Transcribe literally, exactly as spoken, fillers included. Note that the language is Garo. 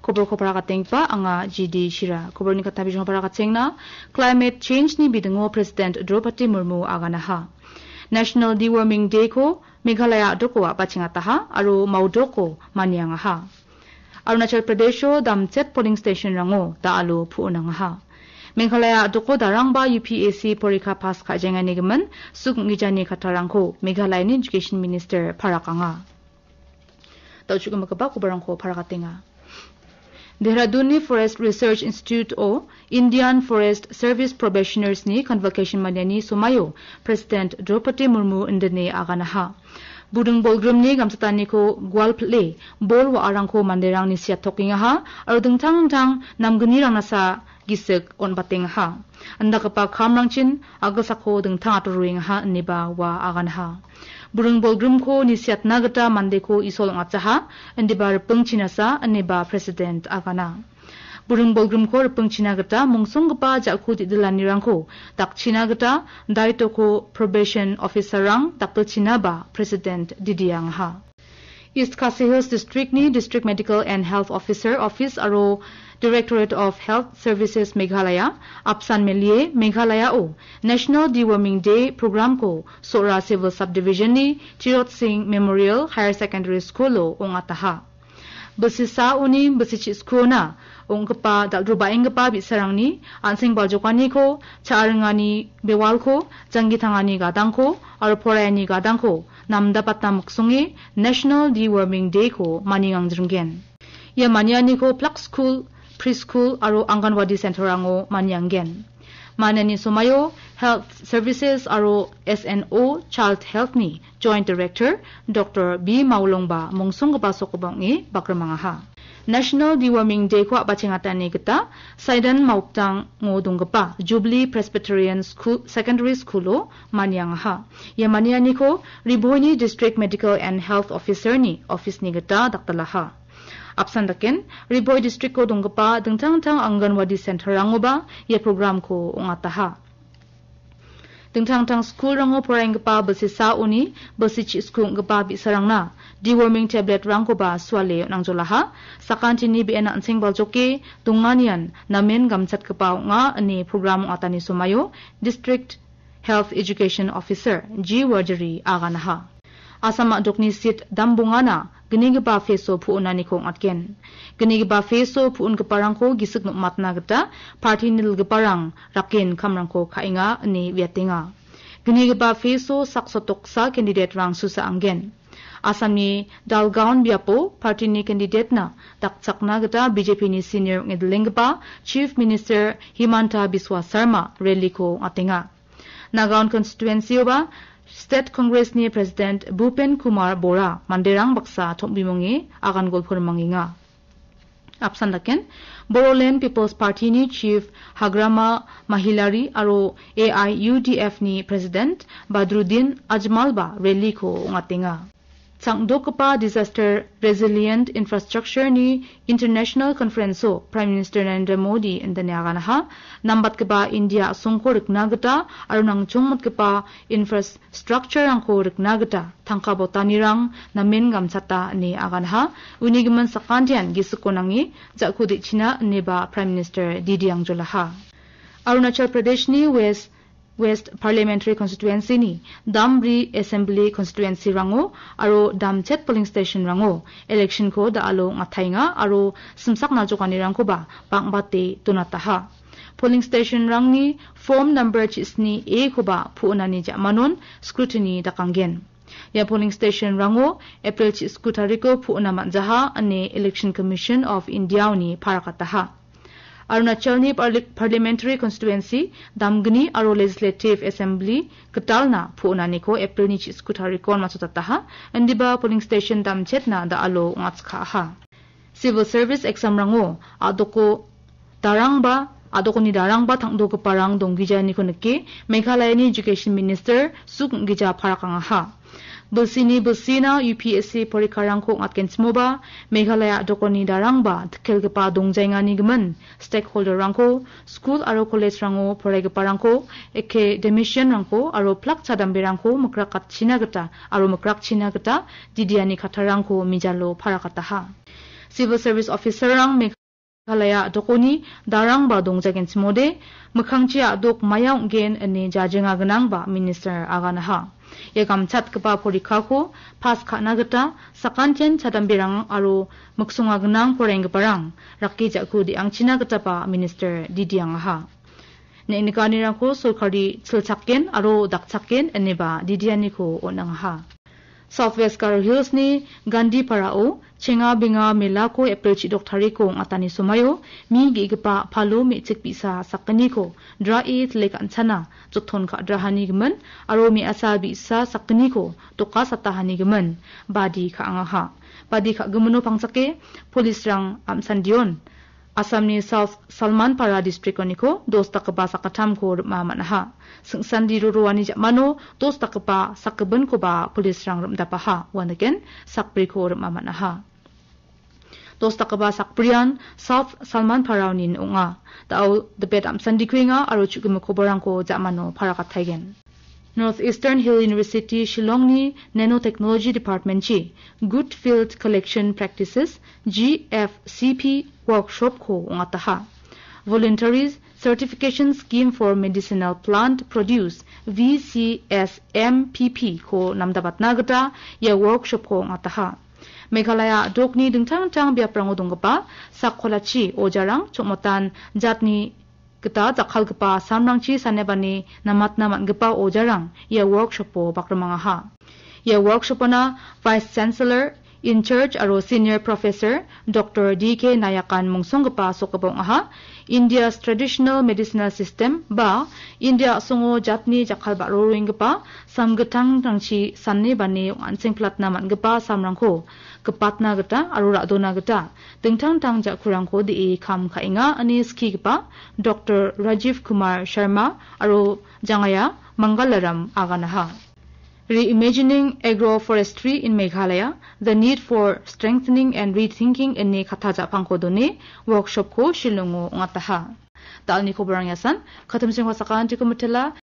Koborko parakatenggipa anga G D Shira. Koborni katna bijongko parakatengna, climate change-ni bidingo President Draupadi Murmu aganaha. National Deworming Day-ko Meghalaya a·doko a·bachengataha aro maudoko maniangaha. Arunachal Pradesho damchet polling station-rango da·alo pu·onangaha. Meghalaya a·doko darangba U P S C porikha pass ka·jaengani gimin suk ong·gijani kattarangko Meghalayani Education Minister parakanga. Da·o chu·gimagipa kobarangko parakatenga. Dehradunni Forest Research Institute-o Indian Forest Service Probationers-ni convocation maniani somaio President Draupadi Murmu indine aganaha. Buring bolgrimni gamchataniko gual pile bol wa·arangko manderangni siatokengaha aro dingtang dingtang namgnirangnasa gisik on·batengaha. Indakgipa kamrangchin a·gilsako dingtang atoroengaha ineba ua aganaha. Buring bolgrimko nisiatna gita mandeko isol ong·atjaha, indiba ripingchinasa ineba President agana. Buring bolgrimko ripingchina gita mongsonggipa ja·ku didilanirangko dakchina gita daitoko probation officer-rang dakgilchinaba President didiangaha. East Khasi Hills District-ni District Medical and Health Officer Office aro Directorate of Health Services Meghalaya apsan melie Meghalaya-o National Deworming Day program-ko Sohra Civil Subdivision-ni Tirot Singh Memorial Higher Secondary School-o ong·ataha. Bilsi saoni bilsi chi·skona ong·gipa dal·drobaenggipa bi·sarangni an·seng baljokaniko, cha·ringani bewalko, janggi tangani gadangko aro poraiani gadangko namdapatna miksonge National Deworming Day-ko maniangjringen. Ia manianiko plak skul, preschool aro Anganwadi center-rango manianggen. Maniani somaio Health Services aro S N O Child Health-ni Joint Director Doctor B Maulongba mongsonggipa sokoba ong·e bakrimangaha. National Deworming Day-ko a·bachengatani gita Saidan Maukdango donggipa Jubilee Presbyterian School, Secondary School-o maniangaha. Ia manianiko Riboini District Medical and Health Officer-ni office-ni gita dakdalaha. Apsan daken, Riboi District-o donggipa dingtang dingtang Anganwadi center-rangoba ia program-ko ong·ataha. Dingtang dingtang school-rango poraienggipa bilsi saoni bilsi chi·sku ong·gipa bi·sarangna deworming tablet-rangkoba suale on·angjolaha. Sakantini be·en an·seng baljoke donganian namen gamchatgipa ong·a ine program ong·atani somaio District Health Education Officer G Wardiri aganaha. Assam a·dokni seat dambongana gnigipa phase-o pu·onaniko ong·atgen. Gnigipa phase-o pu·ongiparangko gisik nom·atna gita party nilgiparang raken kamrangko ka·enga ine uiatenga. Gnigipa phase-o sak sotoksa candidate-rang susa anggen. Assamni Dalgaon biapo party-ni candidate-na dakchakna gita B J P-ni senior ong·edilenggipa Chief Minister Himanta Biswa Sarma rally-ko ong·atenga. Nagaon constituency-oba State Congress-ni President Bhupen Kumar Bora manderang baksa tom·bimonge agan golpo rimangenga. Apsan daken, Bodoland People's Party-ni Chief Hagrama Mahilari aro A I U D F-ni President Badruddin Ajmal-ba rally-ko ong·atenga. Changdokgipa Disaster Resilient Infrastructure-ni International Conference-o Prime Minister Narendra Modi indine aganaha, nambatgipa India a·songko rikna gita aro nangchongmotgipa infrastructure-rangko rikna gita tangka botanirang namen gamchata ine aganaha, uni gimin sakantian gisiko nange ja·ku de·china ineba Prime Minister didiangjolaha. Arunachal Pradeshni West West Parliamentary Constituency-ni dambri Assembly Constituency-rango aro damchet polling station-rango election-ko da·alo ong·ataenga aro simsak naljokanirangkoba bang·bate donataha. Polling station-rangni form number chisni A-koba pu·onani ja·manon scrutiny dakanggen. Ia polling station-rango April chisku tariko pu·ona man·jaha ine Election Commission of India-oni parakataha. Arunachalni parli-, parliamentary constituency damgni aro legislative assembly gitalna pu·onaniko Aprilni chisku tarikon matchotataha, indiba polling station damchetna da·alo ong·atskaaha. Civil service exam-rango a·doko darangba, a·dokoni darangba tangdogiparang donggijaniko nike Meghalayani Education Minister Suk Gija parakangaha. Bilsini bilsina U P S C porikharangko ong·atgenchimoba, Meghalaya a·dokoni darangba dikkelgipa dongjaengani gimin stakeholder-rangko, skul aro college-rango poraigiparangko, academician-rangko aro plak chadamberangko mikrakatchina gita aro mikrakchina gita didiani kattarangko mijalo parakataha. Civil Service Officer-rang Meghalaya a·dokoni darangba dongjagenchimode, mikkangchi a·dok maia ong·gen ine jajinga gnangba Minister aganaha. Ia gamchatgipa porikako pas ka·na gita sakantian chadamberang aro miksonga gnang poraienggiparang rake ja·ku de·angchina gitaba Minister didiangaha. Ne·nikanirangko sorkari chilchakken aro dakchakken ineba didianiko on·angaha. South West Garo Hills-ni Gandhiparao chenga benga melako April chidok tariko ong·atani somaio mi ge·gipa palo me·chik bi·sa sakgniko drae tile ka·anchana joton ka·drahani gimin aro me·asa bi·sa sakgniko doka satahani gimin badi ka·angaha. Badi ka·gimino pangchake polisrang am·sandion Assamni South Salmanpara district-oniko dos dakgipa sakgittamko rim·a man·aha. Sing·sandi roroani ja·mano dos dakgipa sakgipinkoba polisrang rim·dapaha, uandakgen sakbriko rim·a man·aha. Dos dakgipa sakbrian South Salmanparaonin ong·a. Da·o dipet am·sandikuenga aro chu·gimik koborrangko ja·mano parakattaigen. North Eastern Hill University Shillongni Nanotechnology Department-chi Good Field Collection Practices, G F C P, workshop-ko ong·ataha. Voluntary Certification Scheme for Medicinal Plant Produce, V C S M P P-ko namdabatna gita ia workshop-ko ong·ataha. Meghalaya a·dokni dingtang dingtang biaprango donggipa sak kolachi ojarang chongmatan jatni gita jakkalgipa samrangchi sanebani namatna man·gipa ojarang ia workshop-o bakrimangaha. Ia workshop-ona Vice Chancellor, in charge aro Senior Professor Doctor D K Nayakan mungsonggipa sokgipa ong·aha. India's traditional medicinal system ba India a·songo jatni jakkal ba·roroenggipa samgitangrangchi sane bane ong·ansengplatna man·gipa samrangko gipatna gita aro ra·dona gita dingtang dingtang ja·kurangko de·e kam ka·enga ine skigipa Doctor Rajiv Kumar Sharma aro Jangaya Mangalaram aganaha. Reimagining Agroforestry in Meghalaya, The Need for Strengthening and Rethinking ine katta ja·pangko done workshop-ko Shillong-o ong·ataha. Da·alni koborang iasan, katimsing wasakantiko mitela.